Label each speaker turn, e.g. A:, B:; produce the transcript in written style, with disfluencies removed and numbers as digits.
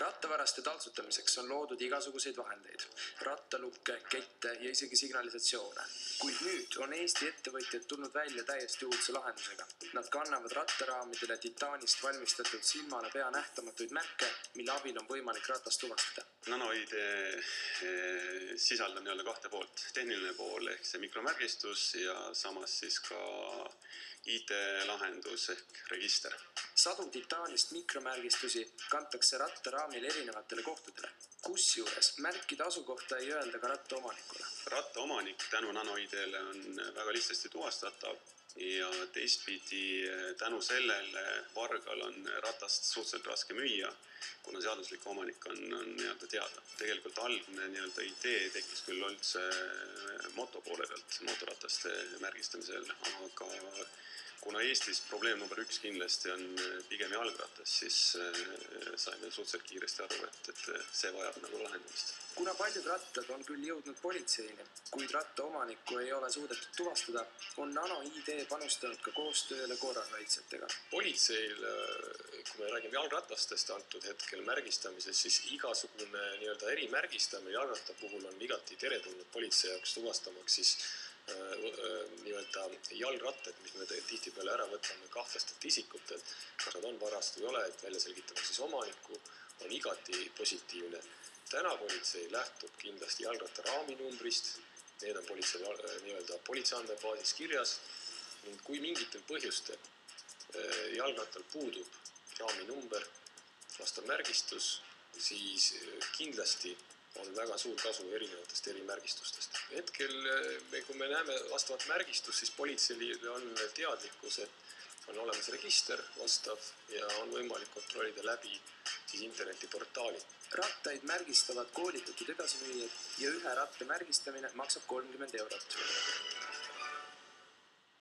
A: Rattavaraste taltsutamiseks on loodud igasuguseid vahendeid, rattalukke, kette ja isegi signalisatsioone. Kuid nüüd on Eesti ettevõtjad tulnud välja täiesti uudse lahendusega. Nad kannavad rattaraamidele titaanist valmistatud silmale pea nähtamatuid märke, mille abil on võimalik ratast tuvastada.
B: NanoID sisaldab nii-öelda kahte poolt. Tehniline pool ehk see mikromärgistus ja samas siis ka IT-lahendus ehk register.
A: Sadu titaanist mikromärgistusi kantakse rattaraamil erinevatele kohtadele. Kusjuures märkide asukohta ei öelda ka rattaomanikule.
B: Rattaomanik tänu NanoID-le on väga lihtsasti tuvastatav ja teistpidi tänu sellele vargal on ratast suhteliselt raske müüa, kuna seaduslik omanik on nii-öelda teada. Tegelikult algne nii-öelda idee tekkis küll üldse moto poole pealt, motorataste märgistamisel, aga kuna Eestis probleem number 1 kindlasti on pigem jalgratas, siis saime suhteliselt kiiresti aru, et see vajab nagu lahendamist.
A: Kuna paljud rattad on küll jõudnud politseini, kuid rattaomanikku ei ole suudetud tuvastada, on NanoID panustanud ka koostööle korrakaitsjatega.
C: Politseil, kui me räägime jalgratastest antud hetkel märgistamises, siis igasugune nii-öelda erimärgistamine jalgratta puhul on igati teretulnud politsei jaoks tuvastamaks siis nii-öelda jalgrattad, mis me tihtipeale ära võtame kahtlastelt isikutelt, kas nad on varast või ei ole, et välja selgitamaks siis omanikku, on igati positiivne. Täna politsei lähtub kindlasti jalgratta raaminumbrist, need on politsei nii-öelda politseiandmebaasis kirjas ning kui mingitel põhjustel jalgrattal puudub raaminumber, vastav märgistus, siis kindlasti on väga suur kasu erinevatest erimärgistustest. Hetkel, kui me näeme vastavat märgistust, siis politseil on teadlikkus, et on olemas register vastav ja on võimalik kontrollida läbi siis internetiportaali.
A: Rattaid märgistavad koolitatud edasimüüjad ja ühe ratta märgistamine maksab 30 €.